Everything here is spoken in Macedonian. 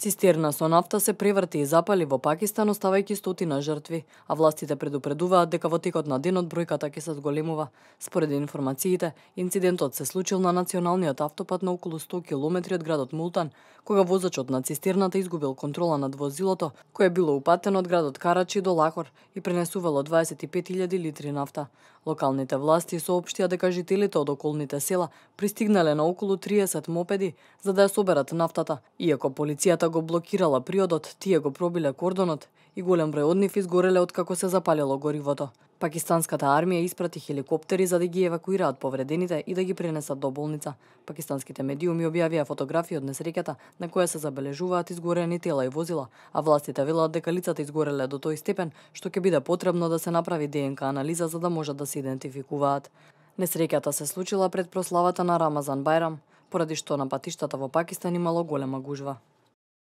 Цистерна со нафта се преврти и запали во Пакистан, оставајќи стотина жртви, а властите предупредуваат дека во текот на денот бројката ќе се зголемува. Според информациите, инцидентот се случил на националниот автопат на околу 100 километри од градот Мултан, кога возачот на цистерната изгубил контрола над возилото, кое било упатено од градот Карачи до Лахор и пренесувало 25.000 литри нафта. Локалните власти соопштија дека жителите од околните села пристигнале на околу 30 мопеди за да ја соберат нафтата, иако полицијата го блокирала приодот, тие го пробиле кордонот и голем број од нив изгореле откако се запалило горивото. Пакистанската армија испрати хеликоптери за да ги евакуираат повредените и да ги пренесат до болница. Пакистанските медиуми објавија фотографии од несреќата на која се забележуваат изгорени тела и возила, а властите велат дека лицата изгореле до тој степен што ќе биде потребно да се направи ДНК анализа за да можат да се идентификуваат. Несреќата се случила пред прославата на Рамазан Бајрам, поради што на патиштата во Пакистан имало голема гужва.